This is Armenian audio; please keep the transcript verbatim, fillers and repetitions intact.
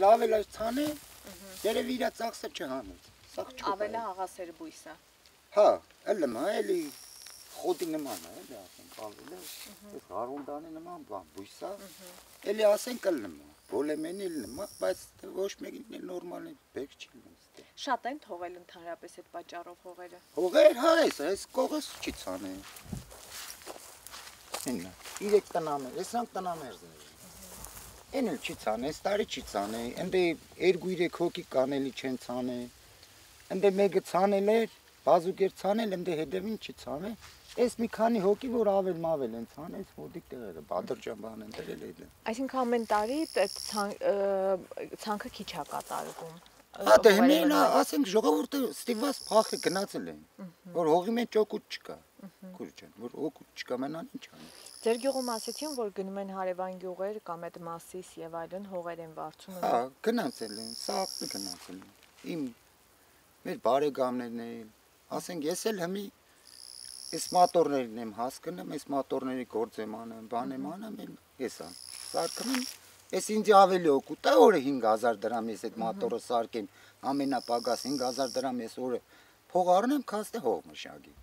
լավ էլ այս ցանը, երևի իր ծախսը չհանեց։ Սաղ չկա։ Ավելա աղասեր բույսը։ Հա, էլի մա, էլի խոտի նման է, էլի ասենք, ավելի, այս հարունդանի նման բան, բույսա, էլի ասենք էլի մա, բոլեմեն էլի մա, բայց ոչ մեկին նորմալ է, բեք չի լինում։ Շատ են թողել ընդհանրապես այդ պատճառով հողերը։ Հողեր, հա, այս, այս կողս չի ցանել։ Իննա, իրեք տնամեր, էսանք տնամերձներ։ Են էլ չի ցանել, այս տարի չի ցանել, ընդ երկու երեք հոգի կանելի չեն ցանել։ Ընդ մեկը ցանել էր, բազուկ էր ցանել, ընդ հետևին չի ցանել։ Այս մի քանի հոգի, որ ավել մավել են ցանել, այս մոտիկ տեղերը, Բադրջան բան են դրել այդ։ Այսինքն ամեն տարի այդ ցանքը քիչ է կատարվում։ Հա դե հիմա ասենք ժողովուրդը ստիպված փախը գնացել են, որ հողի մեջ օգուտ չկա։ Քուր ջան, որ օգուտ չկա, մենան ինչ անի։ Ձեր գյուղում ասեցին, որ գնում են հարևան գյուղեր կամ այդ Մասիս եւ այլն հողեր են վարձում։ Հա, գնացել են, սաղը գնացել են։ Իմ մեր բարեկամներն են, ասենք ես էլ հիմի այս մոտորներն եմ հասկանում, այս մոտորների գործ եմ անում, բան եմ անում, ես ան։ Սարքում եմ, ես ինձ ավելի օգուտ է, օրը հինգ հազար դրամ ես այդ մոտորը սարքեմ, ամենապագաս հինգ հազար դրամ ես օրը փող առնեմ, քաստե հող մշակի։